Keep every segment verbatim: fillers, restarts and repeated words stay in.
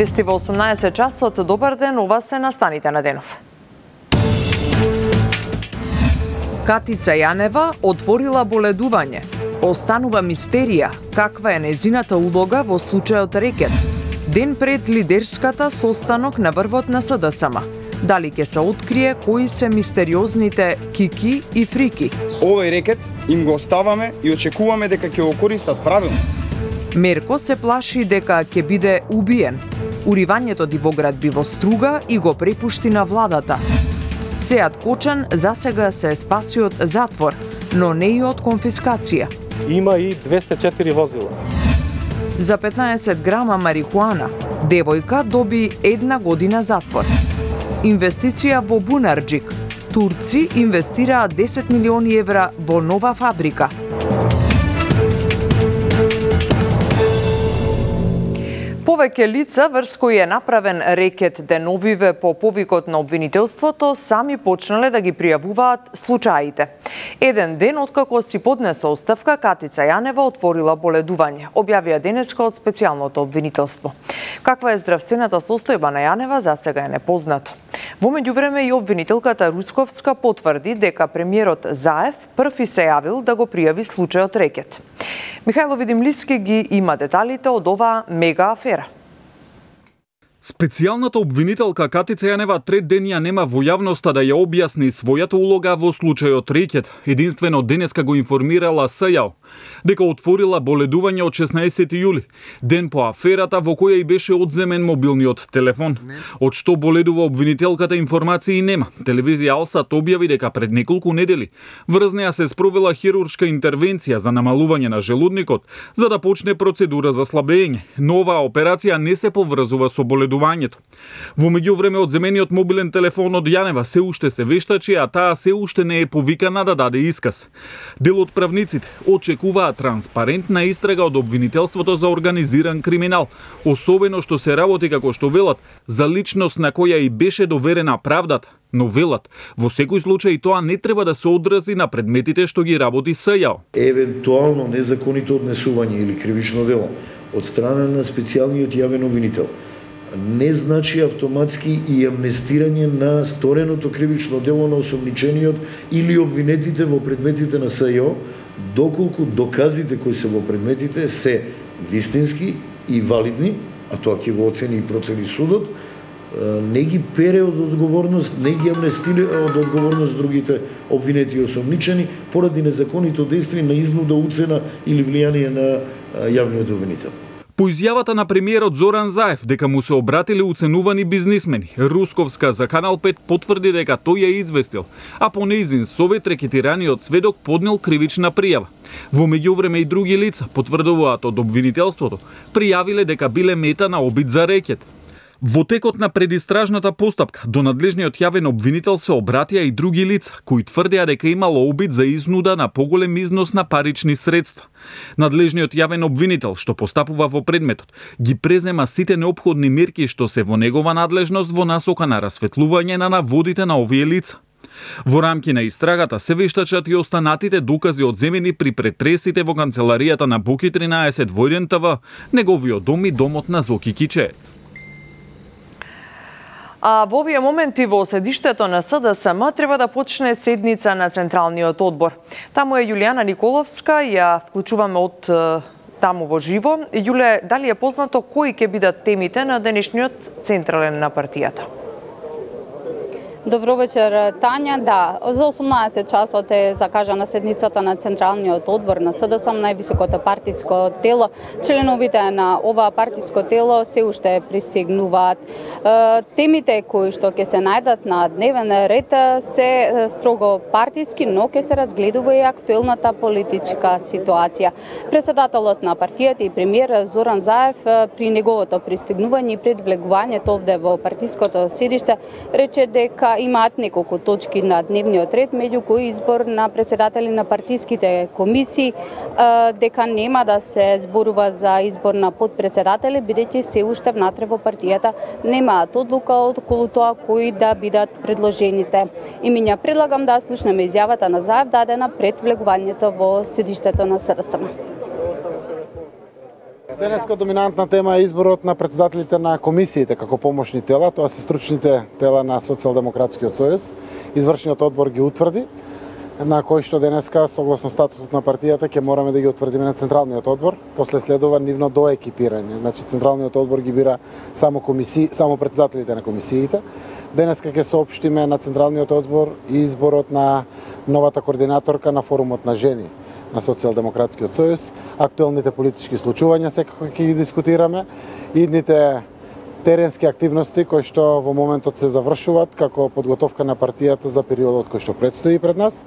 Вести во осумнаесет часот, добар ден, ова се настаните на денов. Катица Јанева отворила боледување. Останува мистерија каква е незината улога во случајот рекет. Ден пред лидерската состанок на врвот на СДСМ. Дали ќе се открие кои се мистериозните кики и фрики? Овој рекет им го оставаме и очекуваме дека ќе го користат правилно. Мерко се плаши дека ќе биде убиен. Уривањето Дивоград би во струга и го препушти на владата. Сеат Кочан засега се спаси од затвор, но не и од конфискација. Има и двесте и четири возила. За петнаесет грама марихуана, девојка доби една година затвор. Инвестиција во Бунарџик. Турци инвестираат десет милиони евра во нова фабрика. Повеќе лица врз кои е направен рекет деновиве по повикот на обвинителството сами почнале да ги пријавуваат случаите. Еден ден откако си поднесе оставка, Катица Јанева отворила боледување, објавија денеска од специјалното обвинителство. Каква е здравствената состојба на Јанева засега е непознато. Во меѓувреме и обвинителката Русковска потврди дека премиерот Заев први се јавил да го пријави случајот рекет. Михајло Видимлиски ги има деталите од оваа мега афера. Специјалната обвинителка Катица Јанева трет ден ја нема во јавноста да ја објасни својата улога во случајот рекет. Единствено денеска го информирала СЈАО дека отворила боледување од шеснаесети јули, ден по аферата во која и беше одземен мобилниот телефон. Од што боледува обвинителката информации нема. Телевизија Алсат објави дека пред неколку недели врз неа се спровела хируршка интервенција за намалување на желудникот за да почне процедура за слабење. Но оваа операција не се поврзува со боледување. Во меѓувреме одземениот мобилен телефон од Јанева се уште се вештачи, а таа се уште не е повикана да даде исказ. Дел од правниците очекуваат транспарентна истрага од обвинителството за организиран криминал, особено што се работи, како што велат, за личност на која и беше доверена правдата. Но велат, во секој случај тоа не треба да се одрази на предметите што ги работи СЈАО. Евентуално незаконито однесување или кривично дело од страна на специјалниот јавен обвинител не значи автоматски и амнестирање на стореното кривично дело на осомничениот или обвинетите во предметите на СЈО, доколку доказите кои се во предметите се вистински и валидни, а тоа ќе го оцени и процени судот, не ги пере од одговорност, не ги амнестира од одговорност другите обвинети и осомничени поради незаконито дејство на изнуда, уцена или влијание на јавниот обвинител. По изјавата на премиерот Зоран Заев дека му се обратиле уценувани бизнисмени, Русковска за Канал пет потврди дека тој ја известил, а по нејзин совет рекетираниот сведок поднел кривична пријава. Во меѓувреме и други лица потврдуваат од обвинителството, пријавиле дека биле мета на обид за рекет. Во текот на предистражната постапка до надлежниот јавен обвинител се обратија и други лица кои тврдеа дека имало обид за изнуда на поголем износ на парични средства. Надлежниот јавен обвинител што постапува во предметот ги презема сите неопходни мерки што се во негова надлежност во насока на расветлување на наводите на овие лица. Во рамки на истрагата се вештачат и останатите докази одземени при претресите во канцеларијата на Буки тринаесет во еден ТВ, неговиот дом и домот на Зоки Кичеец. А во овие моменти во седиштето на СДСМ треба да почне седница на Централниот одбор. Таму е Јулијана Николовска, ја вклучуваме од таму во живо. Јуле, дали е познато кои ќе бидат темите на денешниот централен на партијата? Добро вечер, Тања. Да, за осумнаесет часот е закажана седницата на Централниот одбор на СДСМ, највисокото партиско тело. Членовите на ова партиско тело се уште пристигнуваат. Темите кои што ќе се најдат на дневен ред се строго партиски, но ќе се разгледува и актуелната политичка ситуација. Председателот на партијата и премиер Зоран Заев при неговото пристигнување и пред влегувањето овде во партиското седиште рече дека имаат неколку точки на дневниот ред, меѓу кои избор на председатели на партиските комисии, дека нема да се зборува за избор на подпредседатели, бидејќи се уште внатре во партијата немаат одлука околу тоа кои да бидат предложените имиња. Предлагам да слушнеме изјавата на Заев дадена пред влегувањето во седиштето на СДСМ. Денеска доминантна тема е изборот на председателите на комисиите како помошни тела, тоа се стручните тела на Социјалдемократскиот сојуз. Извршниот одбор ги утврди, на кој што денеска, согласно статутот на партијата, ќе мораме да ги утврдиме на Централниот одбор, после следува нивно доекипирање. Значи, Централниот одбор ги бира само комисии, само председателите на комисиите. Денеска ќе соопштиме на Централниот одбор изборот на новата координаторка на форумот на жени на Социјалдемократскиот сојуз, актуелните политички случувања секако ќе ги дискутираме, идните теренски активности кои што во моментот се завршуваат како подготовка на партијата за периодот кој што предстои пред нас.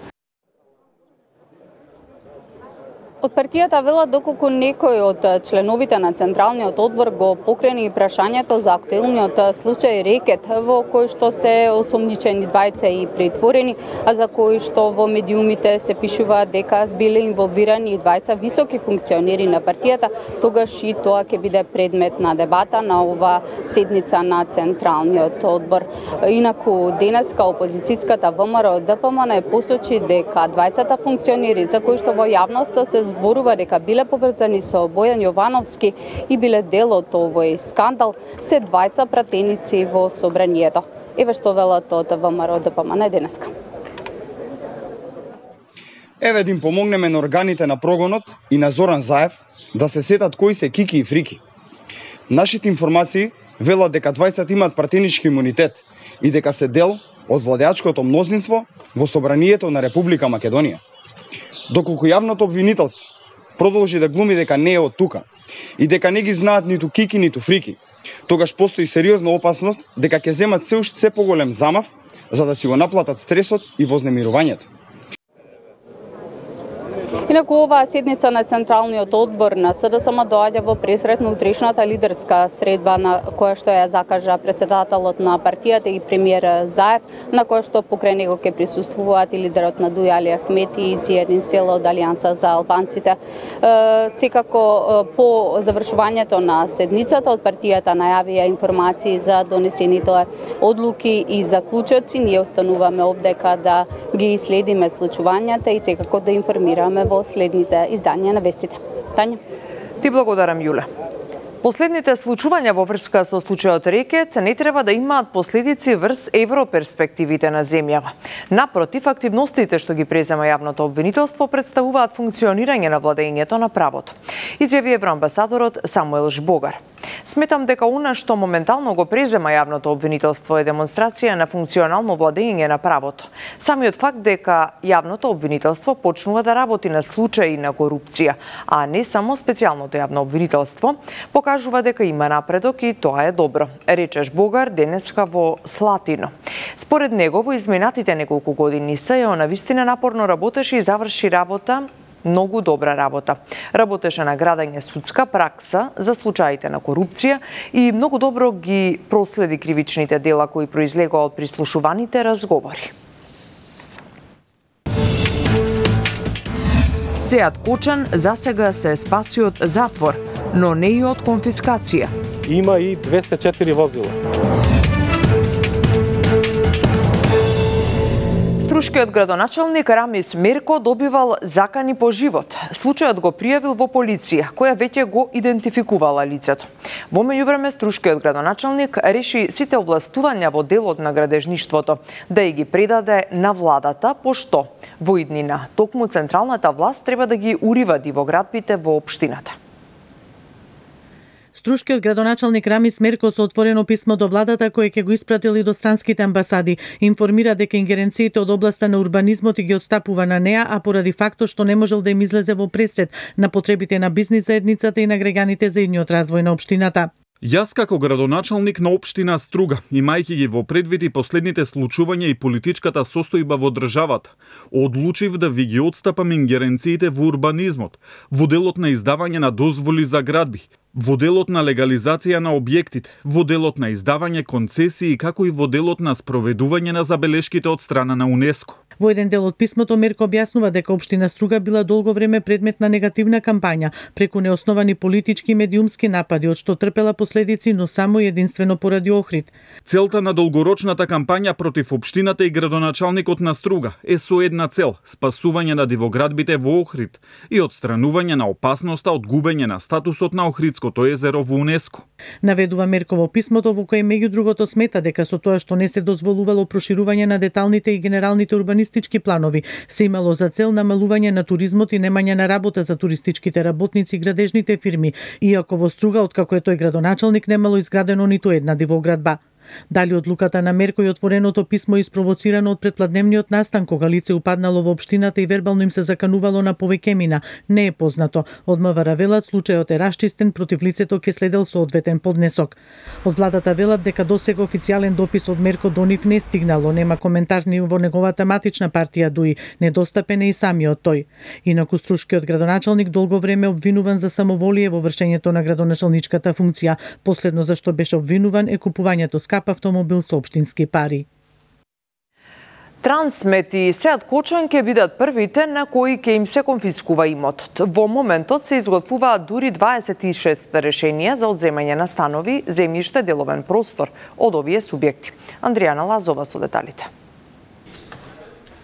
Од партијата велат доколку некој од членовите на Централниот одбор го покрени прашањето за актуелниот случај рекет во кој што се осомничени двајца и притворени, а за кој што во медиумите се пишува дека биле инволвирани и двајца високи функционери на партијата, тогаш и тоа ќе биде предмет на дебата на ова седница на Централниот одбор. Инаку денеска опозицијската ВМРО Д П М Н посочи дека двајцата функционери за кои што во јавноста се зборува дека биле поврзани со Бојан Јовановски и биле дел од овој скандал, се двајца пратеници во собранието. Еве што велат од ВМРО Д П М Н денеска. Еве да им помогнеме на органите на прогонот и на Зоран Заев да се сетат кои се Кики и Фрики. Нашите информации велат дека двајцата имаат пратенички имунитет и дека се дел од владеачкото мнозинство во собранието на Република Македонија. Доколку јавното обвинителство продолжи да глуми дека не е од тука и дека не ги знаат ниту Кики, ниту Фрики, тогаш постои сериозна опасност дека ќе земат се уште се поголем замав за да си го наплатат стресот и вознемирувањето. Инаку оваа седница на Централниот одбор на С Д С М доаѓа во пресред на утрешната лидерска средба на која што ја закажа председателот на партијата и премиер Заев, на која што покрај него ќе присуствуваат и лидерот на Дуј Али Ахмети и Зиедин Села од Алијанса за албанците. Секако по завршувањето на седницата од партијата најавија информации за донесените одлуки и заклучоци. Ние остануваме овдека да ги следиме случувањата и секако да информираме во следните издања на вестите. Тања. Ти благодарам, Јуле. Последните случувања во врска со случајот рекет не треба да имаат последици врз европерспективите на земјава. Напротив, активностите што ги презема јавното обвинителство представуваат функционирање на владењето на правото, изјави евроамбасадорот Самуел Жбогар. Сметам дека она што моментално го презема јавното обвинителство е демонстрација на функционално владење на правото. Самиот факт дека јавното обвинителство почнува да работи на случаи на корупција, а не само специјалното јавно обвинителство, покажува дека има напредок и тоа е добро, рече Жбогар денеска во Слатино. Според него во изминатите неколку години СЈО навистина напорно работеше и заврши работа многу добра работа. Работеше на градење судска пракса за случаите на корупција и многу добро ги проследи кривичните дела кои произлегоа од прислушуваните разговори. Сеат Кочан засега се спаси од затвор, но не и од конфискација. Има и двесте и четири возила. Струшкиот градоначалник Рамис Мерко добивал закани по живот. Случајот го пријавил во полиција, која веќе го идентификувала лицето. Во меѓувреме, Струшкиот градоначалник реши сите овластувања во делот на градежништвото да и ги предаде на владата, пошто во иднина токму централната власт треба да ги уривади во градбите во општината. Струшкиот градоначалник Рамис Мерко со отворено писмо до владата кое ќе го испратил и до странските амбасади информира дека ингеренциите од областа на урбанизмот ги отстапува на неа, а поради фактот што не можел да им излезе во пресред на потребите на бизнис заедницата и на граѓаните за идниот развој на општината. Јас како градоначалник на општина Струга, имајќи ги во предвид и последните случувања и политичката состојба во државата, одлучив да ви ги отстапам ингеренциите во урбанизмот, во делот на издавање на дозволи за градби, Во делот на легализација на објектите, во делот на издавање концесии, како и во делот на спроведување на забелешките од страна на УНЕСКО. Во еден дел од писмото Мерко објаснува дека општина Струга била долго време предмет на негативна кампања преку неосновани политички и медиумски напади, од што трпела последици, но само и единствено поради Охрид. Целта на долгорочната кампања против општината и градоначалникот на Струга е со една цел – спасување на дивоградбите во Охрид и отстранување на опасноста од губење на статусот на Охридското езеро во УНЕСКО. Наведува Мерко во писмото, во кое меѓу другото смета дека со тоа што не се дозволувало проширување на деталните и генералните урбанистички планови, се имало за цел намалување на туризмот и немање на работа за туристичките работници и градежните фирми, иако во Струга, откако е тој градоначалник, немало изградено ниту една дивоградба. Дали одлуката на Мерко и отвореното писмо испровоцирано од предпладневниот настан кога лице упаднало во општината и вербално им се заканувало на повеќе мина, не е познато. Од МВР велат случајот е расчистен, против лицето ќе следел соодветен поднесок. Од владата велат дека досега официјален допис од Мерко до нив не стигнало, нема коментар ни во неговата матична партија ДУИ, недостапен е и самиот тој. Инаку струшкиот градоначалник долго време обвинуван за самоволие во вршењето на градоначалничката функција. Последно за што беше обвинуван е купувањето скап автомобил со општински пари. Трансмет и Сеат Кочан ќе бидат првите на кои ќе им се конфискува имотот. Во моментот се изготвуваат дури дваесет и шест решенија за одземање на станови, земјиште, деловен простор од овие субјекти. Андријана Лазова со деталите.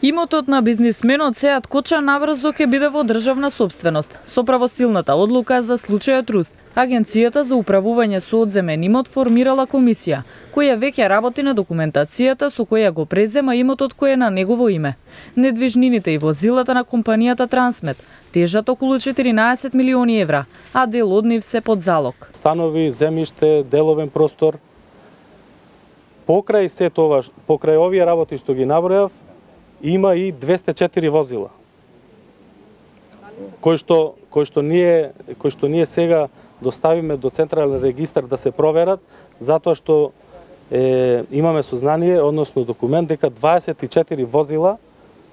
Имотот на бизнисменот Сеат Кочан набрзо ќе биде во државна сопственост. Со правосилната одлука за случајот Руст, Агенцијата за управување со одземен имот формирала комисија, која веќе работи на документацијата со која го презема имотот кој е на негово име. Недвижнините и возилата на компанијата Трансмет тежат околу четиринаесет милиони евра, а дел од нив се под залог. Станови, земјиште, деловен простор. Покрај се тоа, покрај овие работи што ги набројав, има и двесте и четири возила. Кој што кој што ние кој што ние сега доставиме до централен регистар да се проверат, затоа што е, имаме сознание, односно документ дека дваесет и четири возила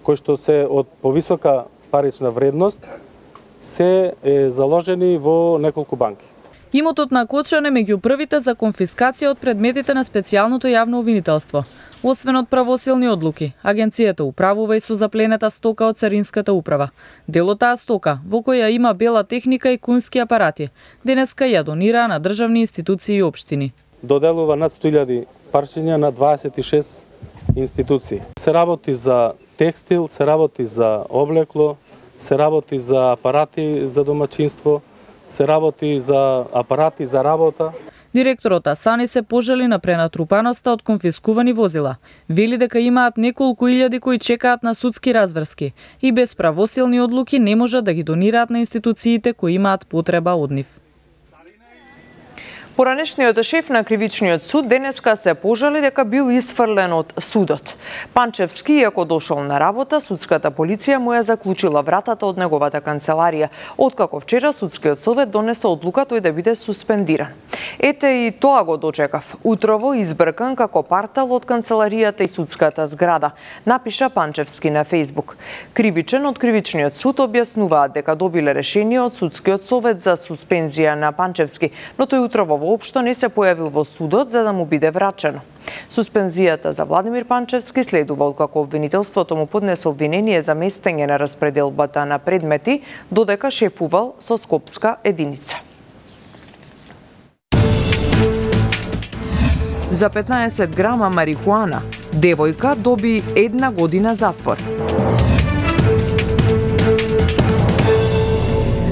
кои што се од повисока парична вредност се е, заложени во неколку банки. Имотот на Кочан е меѓу првите за конфискација од предметите на специјалното јавно обвинителство. Освен од правосилни одлуки, агенцијата управува и со запленета стока од Царинската управа. Дел од таа стока, во која има бела техника и кунски апарати, денеска ја донира на државни институции и општини. Доделува над сто илјади парчиња на дваесет и шест институции. Се работи за текстил, се работи за облекло, се работи за апарати за домаќинство, се работи за апарати за работа. Директорот Асани се пожали на пренатрупаноста од конфискувани возила. Вели дека имаат неколку илјади кои чекаат на судски разврски и без правосилни одлуки не можат да ги донираат на институциите кои имаат потреба од нив. Поранешниот шеф на кривичниот суд денеска се пожали дека бил исфрлен од судот. Панчевски, иако дошол на работа, судската полиција му ја заклучила вратата од неговата канцеларија, откако вчера судскиот совет донесе одлука тој да биде суспендиран. Ете и тоа го дочекав. Утрово избркан како партал од канцеларијата и судската зграда, напиша Панчевски на Фејсбук. Кривичен од кривичниот суд објаснуваат дека добиле решение од судскиот совет за суспензија на Панчевски, но тој утрово воопшто не се појавил во судот за да му биде врачено. Суспензијата за Владимир Панчевски следува откако обвинителството му поднесе обвинение за местење на распределбата на предмети, додека шефувал со Скопска единица. За петнаесет грама марихуана, девојка доби една година затвор.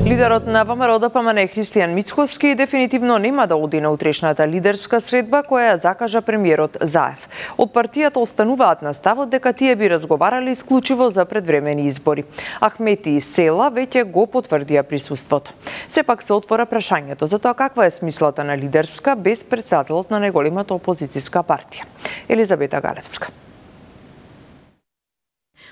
Лидерот на ВМРО Д П М Н Христијан Мицкоски дефинитивно нема да оди на утрешната лидерска средба која ја закажа премиерот Заев. Од партијата остануваат на ставот дека тие би разговарали исклучиво за предвремени избори. Ахмети и Села веќе го потврдија присуството. Сепак се отвора прашањето за тоа каква е смислата на лидерска без претседателот на најголемата опозицијска партија. Елизабета Галевска.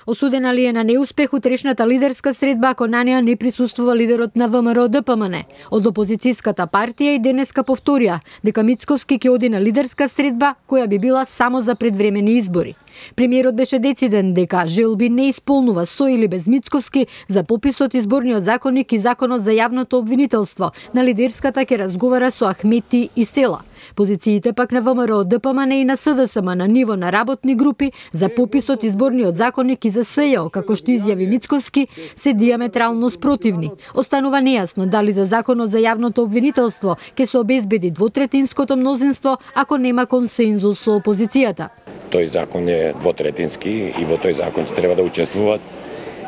Осудена ли е на неуспех утрешната лидерска средба ако на неа не присуствува лидерот на ВМРО Д П М Н? Од опозицијската партија и денеска повторија дека Мицкоски ќе оди на лидерска средба која би била само за предвремени избори. Премиерот беше дециден дека желби не исполнува со или без Мицкоски за пописот изборниот законник и законот за јавното обвинителство. На лидерската ќе разговара со Ахмети и Села. Позициите пак на ВМРО Д П М Н и на С Д С М на ниво на работни групи за пописот изборниот законник и за С Ј О, како што изјави Мицкоски, се диаметрално спротивни. Останува нејасно дали за законот за јавното обвинителство ќе се обезбеди двотретинското мнозинство ако нема консензус со опозицијата. Тој закон е двотретински и во тој закон треба да учествуваат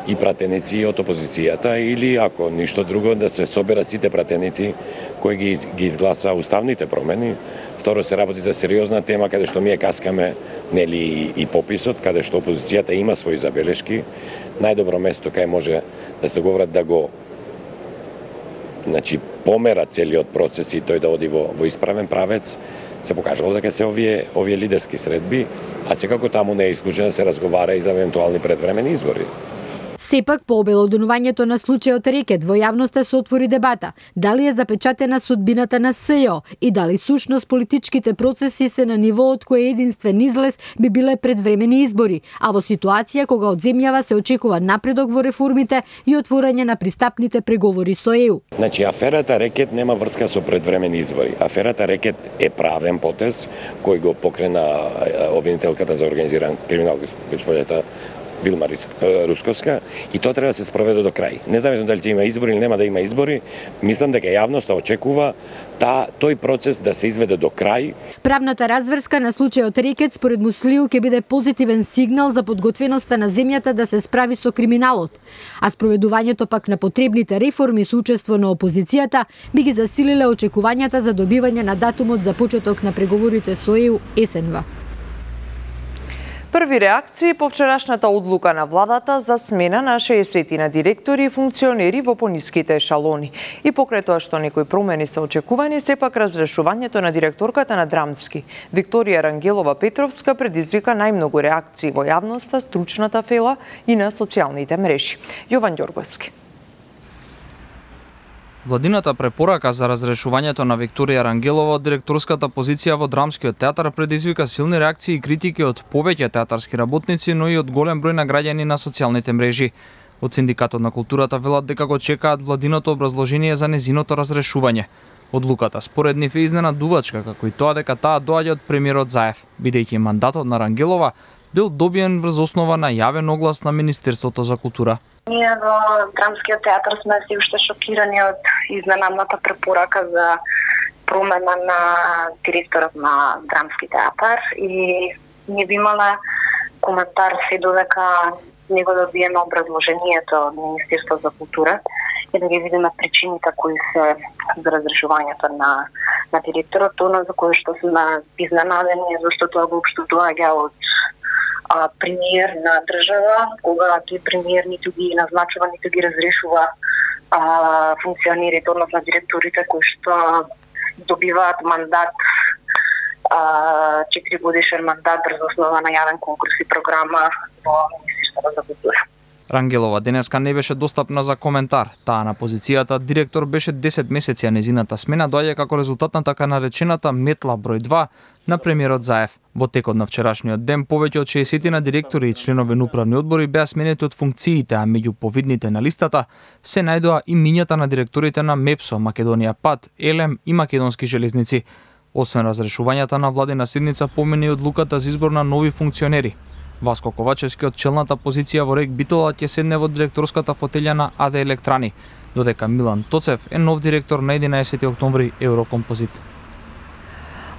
и пратеници од опозицијата или ако ништо друго да се соберат сите пратеници кои ги, ги изгласа уставните промени. Второ, се работи за сериозна тема каде што ние каскаме нели и, и пописот, каде што опозицијата има своји забелешки. Најдобро место кај може да се договорат да го значи помера целиот процес и тој да оди во, во исправен правец. Се покажало дека се овие овие лидерски средби, а секако таму не е исклучено да се разговара и за евентуални предвремени избори. Сепак, по обелоденувањето на случајот Рекет, во јавноста се отвори дебата дали е запечатена судбината на С Ј О и дали сушност политичките процеси се на ниво од кој единствен излез би биле предвремени избори, а во ситуација кога од земјава се очекува напредок во реформите и отворање на пристапните преговори со Е У. Значи, аферата Рекет нема врска со предвремени избори. Аферата Рекет е правен потез кој го покрена обвинителката за организиран криминал, госпоѓата Вилма Русковска, и тоа треба да се спроведе до крај. Независно дали ќе има избори или нема да има избори, мислам дека јавноста очекува та, тој процес да се изведе до крај. Правната разврска на случајот Рекет според Муслиу ќе биде позитивен сигнал за подготвеноста на земјата да се справи со криминалот, а спроведувањето пак на потребните реформи со учество на опозицијата би ги засилиле очекувањата за добивање на датумот за почеток на преговорите со Е У есенва. Први реакции по вчерашната одлука на владата за смена на шеесет на директори и функционери во пониските ешалони. И покрај тоа што некои промени се очекувани, сепак разрешувањето на директорката на Драмски, Викторија Рангелова Петровска, предизвика најмногу реакции во јавноста, стручната фела и на социјалните мрежи. Јован Ѓорговски. Владината препорака за разрешувањето на Викторија Рангелова од директорската позиција во Драмскиот театар предизвика силни реакции и критики од повеќе театарски работници, но и од голем број на граѓани на социјалните мрежи. Од Синдикатот на културата велат дека го чекаат владиното образложение за незиното разрешување. Одлуката според нив е изненадувачка, како и тоа дека таа доаѓа од премиерот Заев, бидејќи мандатот на Рангелова бил добиен врз основа на јавен оглас на Министерството за култура. Ние во Драмскиот театар сме се уште шокирани од изненадната препорака за промена на директорот на Драмски театар и не би имала коментар се додека не го добиеме образложението од Министерството за култура и да ги видиме причините кои се за разрешувањето на, на директорот, тоа за кое што сме изненадени, зашто тоа воопшто доаѓа од а, премиер на држава, кога тој премиер ниту ги назначува, ниту ги разрешува а, функционерите, односно директорите кои што добиваат мандат, четири годишен мандат врз основа на јавен конкурс и програма во Министерството за култура. Рангелова денеска не беше достапна за коментар. Таа на позицијата директор беше десет месеци, а незината смена доаѓа како резултат на така наречената метла број два на премиерот Заев. Во текот на вчерашниот ден повеќе од шеесет на директори и членови на управни одбори беа сменети од функциите, а меѓу повидните на листата се најдоа имињата на директорите на МЕПСО, Македонија Пат, Елем и Македонски железници. Освен разрешувањата на владина седница, помине и одлуката за избор на нови функционери. Васко Ковачевски од челната позиција во РЕК Битола ќе седне во директорската фотелја на АД Електрани, додека Милан Тоцев е нов директор на единаесети октомври Еврокомпозит.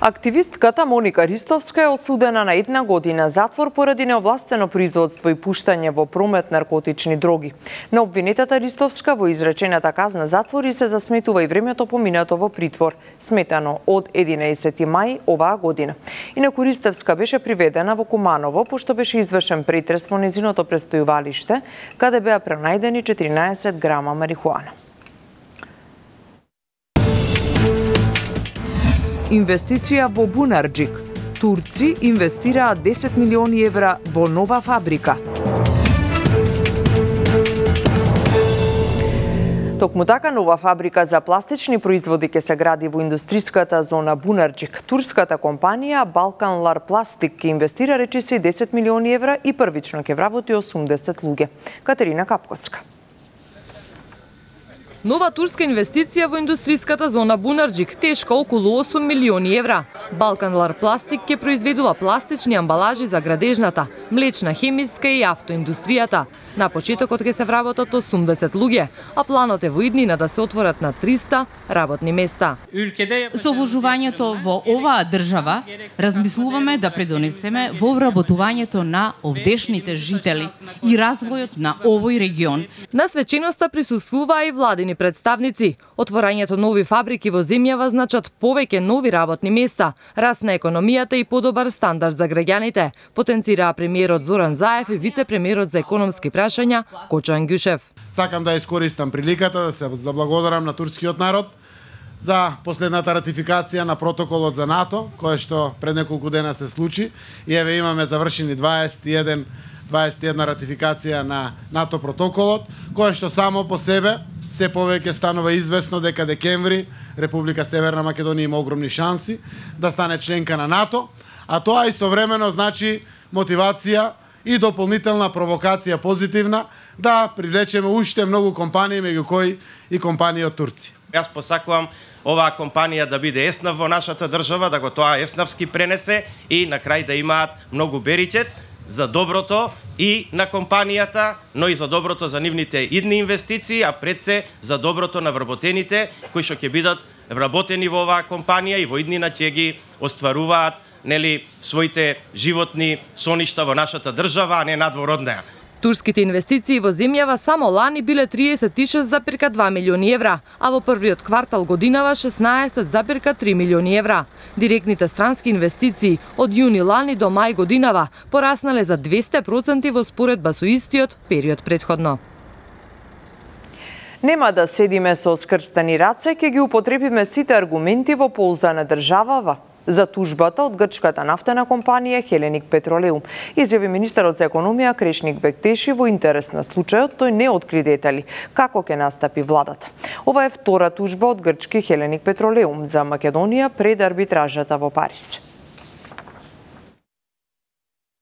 Активистката Моника Ристовска е осудена на една година затвор поради неовластено производство и пуштање во промет наркотични дроги. На обвинетата Ристовска во изречената казна затвор и се засметува и времето поминато во притвор, сметано од единаесети мај оваа година. Инаку Ристовска беше приведена во Куманово, пошто беше извршен претрес во незиното престојувалиште, каде беа пронајдени четиринаесет грама марихуана. Инвестиција во Бунарџик. Турци инвестираат десет милиони евра во нова фабрика. Токму така нова фабрика за пластични производи ќе се гради во индустриската зона Бунарџик. Турската компанија Balkan Lar Plastic ќе инвестира речиси десет милиони евра и првично ќе вработи осумдесет луѓе. Катерина Капковска. Нова турска инвестиција во индустриската зона Бунарџик, тешка околу осум милиони евра. Balkan Lar Plastic ќе произведува пластични амбалажи за градежната, млечна, хемиска и автоиндустријата. На почетокот ќе се вработат осумдесет луѓе, а планот е во иднина да се отворат на триста работни места. Со вложувањето во оваа држава, размислуваме да предонесеме во вработувањето на овдешните жители и развојот на овој регион. На свеченоста присуствуваа и владини представници. Отворањето нови фабрики во земјава значат повеќе нови работни места, раст на економијата и подобар стандард за граѓаните, потенцираа премиерот Зоран Заев и вице-премиерот за економски прашања Кочо Ангјушев. Сакам да искористам приликата да се заблагодарам на турскиот народ за последната ратификација на протоколот за НАТО, кој што пред неколку дена се случи, и еве имаме завршени дваесет и една, дваесет и една ратификација на НАТО протоколот, кој што само по себе се повеќе станува известно дека декември Република Северна Македонија има огромни шанси да стане членка на НАТО, а тоа истовремено значи мотивација и дополнителна провокација позитивна да привлечеме уште многу компании, меѓу кои и компании од Турција. Јас посакувам оваа компанија да биде еснав во нашата држава, да го тоа еснавски пренесе и на крај да имаат многу беричет за доброто и на компанијата, но и за доброто за нивните идни инвестиции, а пред се за доброто на вработените кои што ќе бидат вработени во оваа компанија и во иднина ќе ги остваруваат нели своите животни соништа во нашата држава, а не надвор од неа. Турските инвестиции во земјава само лани биле триесет и шест зарез два милиони евра, а во првиот квартал годинава шеснаесет зарез три милиони евра. Директните странски инвестиции од јуни лани до мај годинава пораснале за двесте проценти во споредба со истиот период претходно. Нема да седиме со скрстени раце, ќе ги употребиме сите аргументи во полза на државава за тужбата од грчката нафтена компанија Хеленик Петролеум, изјави министерот за економија Крешник Бектеши. Во интерес на случајот тој не откри детали како ќе настапи владата. Ова е втора тужба од грчки Хеленик Петролеум за Македонија пред арбитражата во Париз.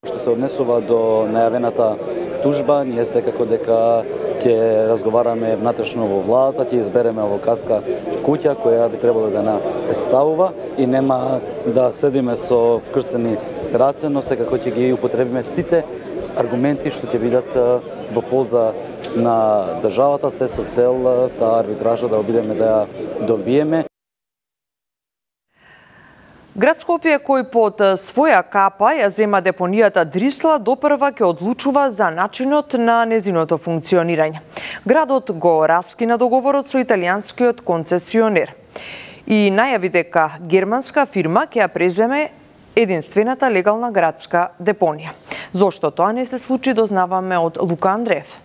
Што се однесува до најавената тужба, ние секако дека ќе разговараме внатрешно во владата, ќе избереме авокатска куќа која би требало да на представува и нема да седиме со вкрстени раце, но секако ќе ги употребиме сите аргументи што ќе бидат во полза на државата, се со цел таа арбитража да обидеме да ја добиеме. Град Скопје, кој под своја капа ја зема депонијата Дрисла, допрва ќе одлучува за начинот на незиното функционирање. Градот го раскина договорот со италијанскиот концесионер и најави дека германска фирма ќе ја преземе единствената легална градска депонија. Зошто тоа не се случи, дознаваме од Лука Андреев.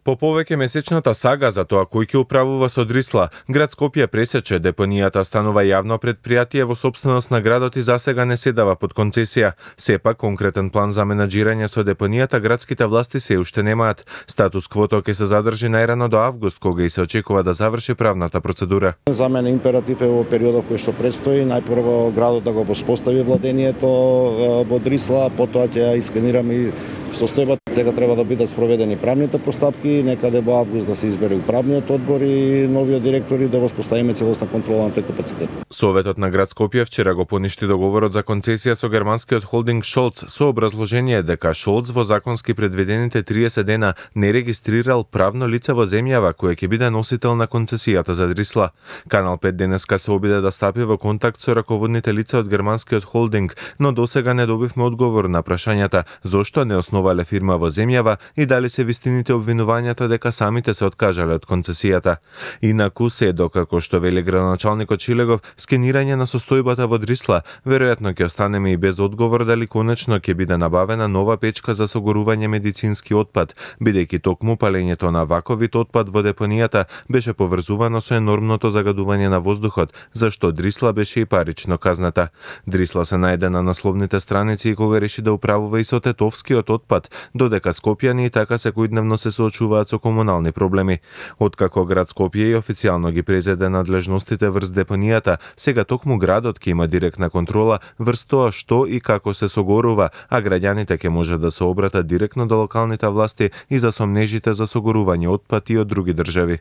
По повеќе месечната сага за тоа кој ќе управува со Дрисла, град Скопје пресече депонијата станува јавно предпријатие во сопственост на градот и засега не се дава под концесија. Сепак конкретен план за менаџирање со депонијата градските власти се уште немаат. Статус квото ќе се задржи најрано до август, кога и се очекува да заврши правната процедура. За мене императив е во периодот кој што предстои, најпрво градот да го воспостави владението во Дрисла, потоа ќе ја исканираме и состојбата. Сега треба да бидат спроведени правните постапки, некаде во август да се избере управниот одбор и новиот директор и да воспоставиме целосна контрола на тој капацитет. Советот на град Скопје вчера го поништи договорот за концесија со германскиот холдинг Шолц со образложение дека Шолц во законски предвидените триесет дена не регистрирал правно лице во земјава кое ќе биде носител на концесијата за Дрисла. Канал пет денеска се обиде да стапи во контакт со раководните лица од германскиот холдинг, но досега не добивме одговор на прашањата зошто не основале фирма во земјава и дали се вистините обвинувањата дека самите се откажале од концесијата. Инаку се докако што вели градоначалникот Шилегов, скенирање на состојбата во Дрисла, веројатно ќе останеме и без одговор дали конечно ќе биде набавена нова печка за согорување медицински отпад, бидејќи токму палењето на ваков вид отпад во депонијата беше поврзувано со енормното загадување на воздухот, зашто Дрисла беше и парично казната. Дрисла се најде на насловните страници и кога реши да управува и со тетовскиот отпад отпад, додека скопјани и така секојдневно се соочуваат со комунални проблеми. Откако град Скопје и официјално ги презеде надлежностите врз депонијата, сега токму градот ќе има директна контрола врз тоа што и како се согорува, а граѓаните ќе може да се обратат директно до локалните власти и за сомнежите за согорување отпад и од други држави.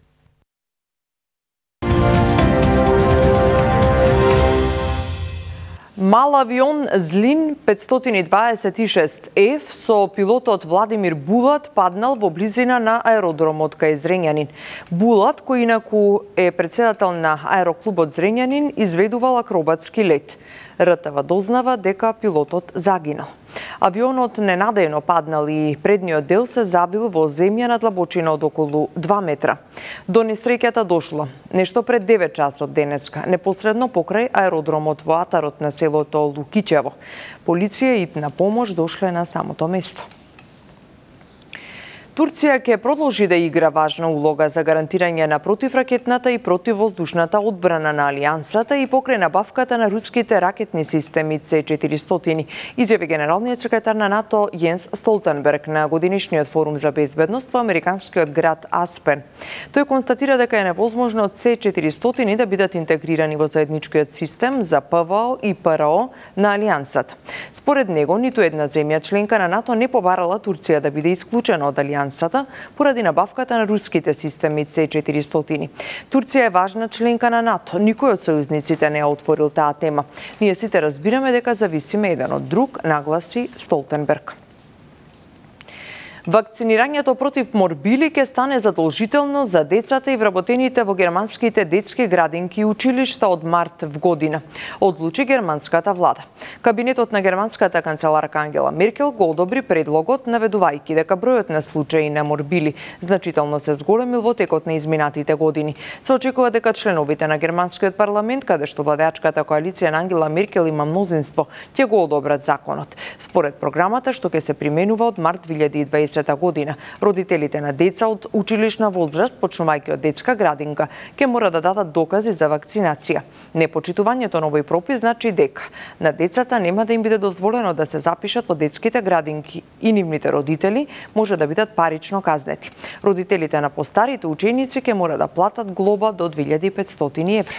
Мал авион Злин петстотини дваесет и шест Ф со пилотот Владимир Булат паднал во близина на аеродромот кај Зрењанин. Булат, кој инаку е председател на аероклубот Зрењанин, изведувал акробатски лет. Р Т В дознава дека пилотот загинал. Авионот ненадејно паднал и предниот дел се забил во земја на длабочина од околу два метра. До несреќата дошло нешто пред девет часот денеска, непосредно покрај аеродромот во атарот на селото Лукичево. Полиција и на помош дошле на самото место. Турција ќе продолжи да игра важна улога за гарантирање на противракетната и противвоздушната одбрана на Алијансата и покрај набавката на руските ракетни системи С четиристотини, изјави генералниот секретар на НАТО Јенс Столтенберг на годинишниот форум за безбедност во американскиот град Аспен. Тој констатира дека е невозможно С четиристотини да бидат интегрирани во заедничкиот систем за П В О и П Р О на Алијансата. Според него, ниту една земја членка на НАТО не побарала Турција да биде исклучена од Алијансата поради набавката на руските системи С четиристотини. Турција е важна членка на НАТО. Никој од сојузниците не ја отворил таа тема. Ние сите разбираме дека зависиме еден од друг, нагласи Столтенберг. Вакцинирањето против морбили ќе стане задолжително за децата и вработените во германските детски градинки и училишта од март в година, одлучи германската влада. Кабинетот на германската канцеларка Ангела Меркел го одобри предлогот, наведувајќи дека бројот на случаи на морбили значително се зголемил во текот на изминатите години. Се очекува дека членовите на германскиот парламент, каде што владеачката коалиција на Ангела Меркел има мнозинство, ќе го одобрат законот. Според програмата што ќе се применува од март две илјади и дваесета година, родителите на деца од училишна возраст, почнувајќи од детска градинка, ќе мора да дадат докази за вакцинација. Непочитувањето на овој пропис значи дека на децата нема да им биде дозволено да се запишат во детските градинки и нивните родители може да бидат парично казнети. Родителите на постарите ученици ќе мора да платат глоба до две илјади и петстотини евра.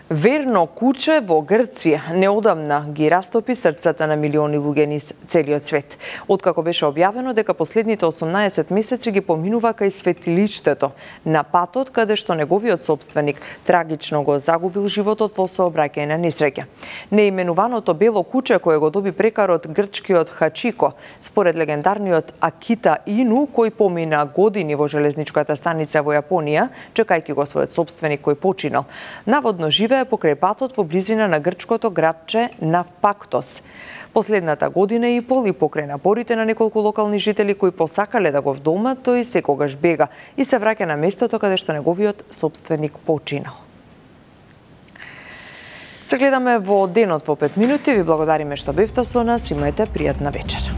Верно куче во Грција неодамна ги растопи срцата на милиони луѓе низ целиот свет. Откако беше објавено дека последните осумнаесет месеци ги поминува кај светилиштето на патот каде што неговиот собственик трагично го загубил животот во сообраќајна несреќа. Неименуваното бело куче кое го доби прекарот грчкиот Хачико, според легендарниот Акита Ину, кој помина години во железничката станица во Јапонија, чекајќи го својот собственик кој починал. Наводно живе покрај патот во близина на грчкото градче Навпактос. Последната година и пол и покрај напорите на неколку локални жители кои посакале да го вдомат, тој секогаш бега и се враќа на местото каде што неговиот собственик починал. Се гледаме во денот во пет минути. Ви благодариме што бевте со нас. Имајте пријатна вечер.